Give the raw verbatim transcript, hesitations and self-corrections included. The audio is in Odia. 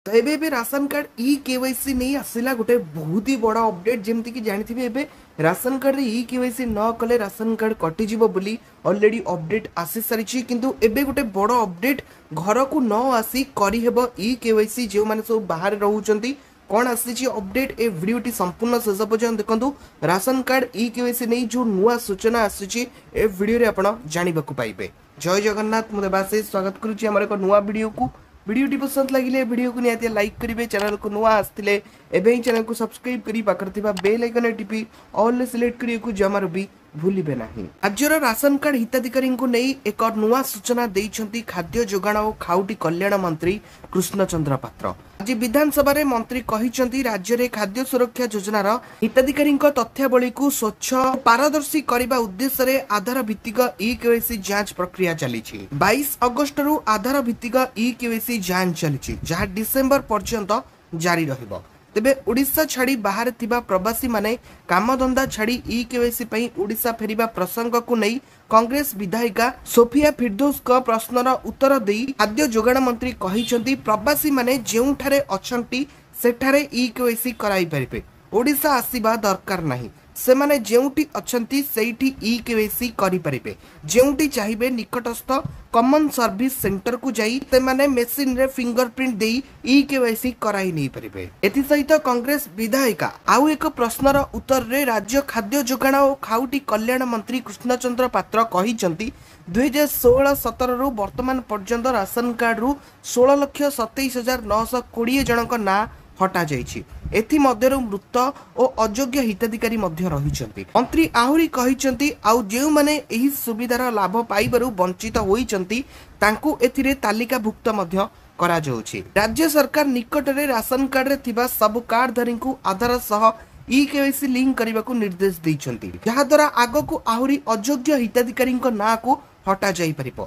ତ ଏବେ ଏବେ ରାସନ କାର୍ଡ ଇ କେୱାଇସି ନେଇ ଆସିଲା ଗୋଟେ ବହୁତ ହି ବଡ଼ ଅପଡେଟ୍। ଯେମିତିକି ଜାଣିଥିବେ, ଏବେ ରାସନ କାର୍ଡରେ ଇ କେୱାଇସି ନ କଲେ ରାସନ କାର୍ଡ କଟିଯିବ ବୋଲି ଅଲରେଡି ଅପଡେଟ୍ ଆସିସାରିଛି। କିନ୍ତୁ ଏବେ ଗୋଟେ ବଡ଼ ଅପଡେଟ୍, ଘରକୁ ନ ଆସି କରିହେବ ଇ କେୱାଇସି ଯେଉଁମାନେ ସବୁ ବାହାରେ ରହୁଛନ୍ତି। କ'ଣ ଆସିଛି ଅପଡେଟ୍, ଏ ଭିଡ଼ିଓଟି ସମ୍ପୂର୍ଣ୍ଣ ଶେଷ ପର୍ଯ୍ୟନ୍ତ ଦେଖନ୍ତୁ। ରାସନ କାର୍ଡ ଇ କେୱାଇସି ନେଇ ଯେଉଁ ନୂଆ ସୂଚନା ଆସୁଛି, ଏ ଭିଡ଼ିଓରେ ଆପଣ ଜାଣିବାକୁ ପାଇବେ। ଜୟ ଜଗନ୍ନାଥ, ମୁଁ ଦେବାଶିଷ ସ୍ୱାଗତ କରୁଛି ଆମର ଏକ ନୂଆ ଭିଡ଼ିଓକୁ। ଭିଡ଼ିଓଟି ପସନ୍ଦ ଲାଗିଲେ ଭିଡ଼ିଓକୁ ନିହାତି ଲାଇକ୍ କରିବେ। ଚ୍ୟାନେଲକୁ ନୂଆ ଆସିଥିଲେ ଏବେ ହିଁ ଚ୍ୟାନେଲକୁ ସବସ୍କ୍ରାଇବ୍ କରି ପାଖରେ ଥିବା ବେଲ୍ ଆଇକନରେ ଟିପି ଅଲ୍ରେ ସିଲେକ୍ଟ କରିବାକୁ ଜମାରୁ ବି ଭୁଲିବେ ନାହିଁ। ରାଜ୍ୟର ରାସନ କାର୍ଡ ହିତାଧିକାରୀଙ୍କୁ ନେଇ ଏକ ନୂଆ ସୂଚନା ଦେଇଛନ୍ତି ଖାଦ୍ୟ ଯୋଗାଣ ଓ ଖାଉଟି କଲ୍ୟାଣ ମନ୍ତ୍ରୀ କୃଷ୍ଣଚନ୍ଦ୍ର ପାତ୍ର। ଆଜି ବିଧାନସଭାରେ ମନ୍ତ୍ରୀ କହିଛନ୍ତି, ରାଜ୍ୟରେ ଖାଦ୍ୟ ସୁରକ୍ଷା ଯୋଜନାର ହିତାଧିକାରୀଙ୍କ ତଥ୍ୟାବଳୀକୁ ସ୍ୱଚ୍ଛ ପାରଦର୍ଶୀ କରିବା ଉଦ୍ଦେଶ୍ୟରେ ଆଧାର ଭିତ୍ତିକ ଇ କେୱାଇସି ଯାଞ୍ଚ ପ୍ରକ୍ରିୟା ଚାଲିଛି। ବାଇଶ ଅଗଷ୍ଟରୁ ଆଧାର ଭିତ୍ତିକ ଇ କେୱାଇସି ଯାଞ୍ଚ ଚାଲିଛି, ଯାହା ଡିସେମ୍ବର ପର୍ଯ୍ୟନ୍ତ ଜାରି ରହିବ। ତେବେ ଓଡ଼ିଶା ଛାଡ଼ି ବାହାରେ ଥିବା ପ୍ରବାସୀମାନେ କାମଧନ୍ଦା ଛାଡ଼ି ଇ କେୱାଇସି ପାଇଁ ଓଡ଼ିଶା ଫେରିବା ପ୍ରସଙ୍ଗକୁ ନେଇ କଂଗ୍ରେସ ବିଧାୟିକା ସୋଫିଆ ଫିର୍ଦୋସଙ୍କ ପ୍ରଶ୍ନର ଉତ୍ତର ଦେଇ ଖାଦ୍ୟ ଯୋଗାଣ ମନ୍ତ୍ରୀ କହିଛନ୍ତି, ପ୍ରବାସୀମାନେ ଯେଉଁଠାରେ ଅଛନ୍ତି ସେଠାରେ ଇ କେୱାଇସି କରାଇ ପାରିବେ, ଓଡ଼ିଶା ଆସିବା ଦରକାର ନାହିଁ। ସେମାନେ ଯେଉଁଠି ଅଛନ୍ତି ସେଇଠି ଇ କେୱାଇସି କରିପାରିବେ। ଯେଉଁଠି ଚାହିଁବେ ନିକଟସ୍ଥ କମନ୍ ସର୍ଭିସ ସେଣ୍ଟରକୁ ଯାଇ ସେମାନେ ମେସିନରେ ଫିଙ୍ଗର ପ୍ରିଣ୍ଟ ଦେଇ ଇ କେୱାଇସି କରାଇ ନେଇପାରିବେ। ଏଥିସହିତ କଂଗ୍ରେସ ବିଧାୟିକା ଆଉ ଏକ ପ୍ରଶ୍ନର ଉତ୍ତରରେ ରାଜ୍ୟ ଖାଦ୍ୟ ଯୋଗାଣ ଓ ଖାଉଟି କଲ୍ୟାଣ ମନ୍ତ୍ରୀ କୃଷ୍ଣଚନ୍ଦ୍ର ପାତ୍ର କହିଛନ୍ତି, ଦୁଇହଜାର ଷୋହଳ ସତରରୁ ବର୍ତ୍ତମାନ ପର୍ଯ୍ୟନ୍ତ ରାସନ କାର୍ଡରୁ ଷୋହଳ ଲକ୍ଷ ସତେଇଶ ହଜାର ନଅଶହ କୋଡ଼ିଏ ଜଣଙ୍କ ନାଁ ହଟାଯାଇଛି। ଏଥିମଧ୍ୟରୁ ମୃତ ଓ ଅଯୋଗ୍ୟ ହିତାଧିକାରୀ ମଧ୍ୟ ରହିଛନ୍ତି। ମନ୍ତ୍ରୀ ଆହୁରି କହିଛନ୍ତି, ଆଉ ଯେଉଁମାନେ ଏହି ସୁବିଧାର ଲାଭ ପାଇବାରୁ ବଞ୍ଚିତ ହୋଇଛନ୍ତି ତାଙ୍କୁ ଏଥିରେ ତାଲିକାଭୁକ୍ତ ମଧ୍ୟ କରାଯାଉଛି। ରାଜ୍ୟ ସରକାର ନିକଟରେ ରାସନ କାର୍ଡରେ ଥିବା ସବୁ କାର୍ଡଧାରୀଙ୍କୁ ଆଧାର ସହ ଇ କେୱାଇସି ଲିଙ୍କ କରିବାକୁ ନିର୍ଦ୍ଦେଶ ଦେଇଛନ୍ତି, ଯାହାଦ୍ୱାରା ଆଗକୁ ଆହୁରି ଅଯୋଗ୍ୟ ହିତାଧିକାରୀଙ୍କ ନାଁକୁ ହଟାଯାଇପାରିବ।